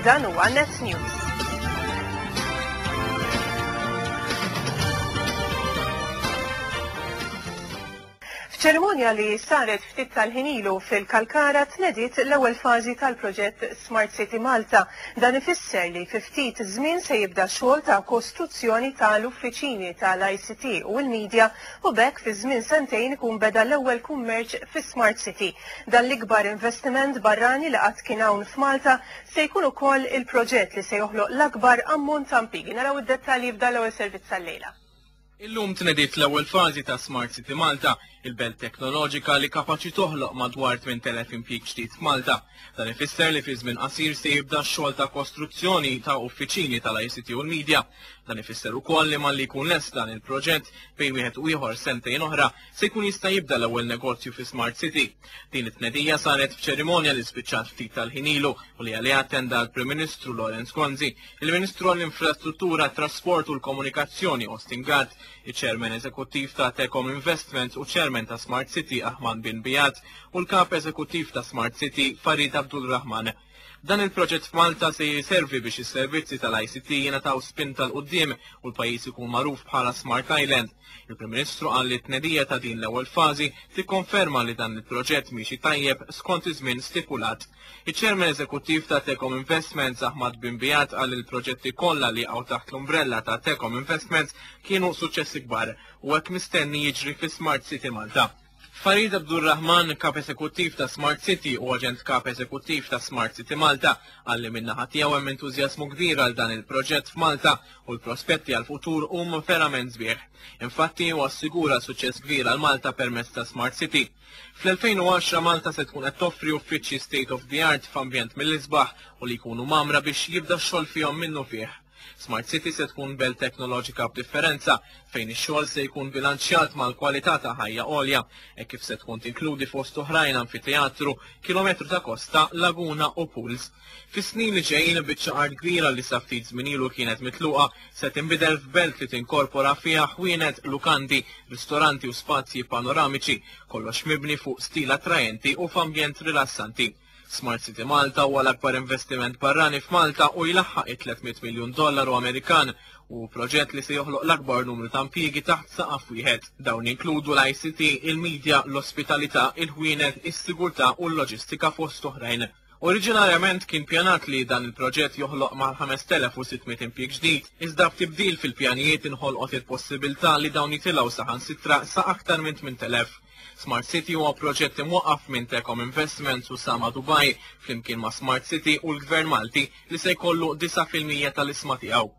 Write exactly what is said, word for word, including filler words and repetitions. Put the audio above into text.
Dan huwa Net News. F'ċerimonja li saret ftit tal-ħin ilu fil-Kalkara tnediet l-ewwel fażi tal-proġett Smart City Malta. Dan ifisser li fi ftit żmien se jibda xogħol ta' kostruzzjoni tal-uffiċini tal-I C T u l-media u b'hekk fi żmien sentejn ikun beda l-ewwel kummerċ fi Smart City. Dan l-ikbar investiment barrani li qatt kien hawn f'Malta se jkun ukoll il-proġett li se joħloq l-akbar ammont ta' impjiegi. Naraw id-dettalji f'dan l-ewwel servizz tal-lejla. Illum tnediet l-ewwel fażi ta' Smart City Malta, il-belt teknoloġika li kapaċi toħloq madwar tmien elef impjieg ġdid f'Malta. Dan ifisser li fi żmien qasir se jibda x-xogħol ta' kostruzzjoni ta' uffiċini tal-I C T u l-media. Dan ifisser ukoll li malli jkun lest dan il-proġett, bejn wieħed u ieħor sentejn oħra, se jkun jista' jibda l-ewwel negozju fi Smart City. Din it-tnedija saret f'ċerimonja li spiċċat ftit tal-ħin ilu u li għaliha attenda l-Prim Ministru Lawrence Gonzi, il-Ministru għall-Infrastruttura, Trasport u l-Komunikazzjoni Austin Gatt, il-Chairman Eżekuttiv ta' Tecom Investments u Chairman ta' Smart City Ahmad Bin Bijat u l-Kap Eżekuttiv ta' Smart City Farid Abdul Rahman. Dan il-proġett f'Malta se jiservi biex is-servizzi tal-I C T jingħataw spinta 'l quddiem u l-pajjiż ikun magħruf bħala Smart Island. Il-Prim Ministru qal li t-tnedija ta' din l-ewwel fażi tikkonferma li dan il-proġett miexi tajjeb skont iż-żmien stipulat. Iċ-Chairman Eżekuttiv ta' Tecom Investments Ahmad Bin Bijat qal li l-proġetti kollha li jaqgħu taħt l-umbrella ta' Tecom Investments kienu suċċessi kbar u hekk mistenni jiġri fi Smart City Malta. Farid Abdurrahman, kap eżekuttiv ta' Smart City u aġent kap eżekuttiv ta' Smart City Malta, qal li min-naħa tiegħu hemm entużjażmu kbir għal dan il-proġett f'Malta u l-prospetti għal futur huma verament sbieħ. Infatti huwa assigura suċċess kbir għal Malta permezz ta' Smart City. Fl-elfejn u għaxra Malta se tkun qed toffri uffiċċji state of the art f'ambjent mill-isbaħ u li jkunu mgħammra biex jibda x-xogħol fihom minnufih. Smart City se tkun belt teknoloġika b'differenza fejn ix-xogħol se jkun bilanċjat mal-kwalità ta' ħajja għolja e kif se tkun tinkludi fost oħrajn amfiteatru, kilometru ta' kosta, laguna u pools. Fis-snin li ġejjin, biċċa art kbira li sa ftit żmien ilu kienet mitluqa se tinbidel f'belt li tinkorpora fiha ħwienet, lukandi, ristoranti u spazji panoramiċi, kollox mibni fuq stil attrajenti u f'ambjent rilassanti. Smart City Malta huwa l-akbar investiment barrani f'Malta u jlaħħaq it-tliet mitt miljun dollaru Amerikan u proġett li se joħloq l-akbar numru ta' impjiegi taħt saqaf wieħed. Dawn inkludu l-I C T, il-media, l-ospitalità, il-ħwienet, is-sigurtà u l-loġistika fost oħrajn. Oriġinarjament kien pjanat li dan il-proġett joħloq mal-ħames elef u sitt mitt impjieg ġdid, iżda b'tibdil fil-pjanijiet inħolqot il-possibilità li dawn jitilgħu saħansitra sa aktar minn tmint elef. Smart City huwa proġett imwaqqaf minn Tecom Investments u Sama Dubai flimkien ma' Smart City u l-Gvern Malti li se jkollu disgħa fil-mija tal-ishma tiegħu.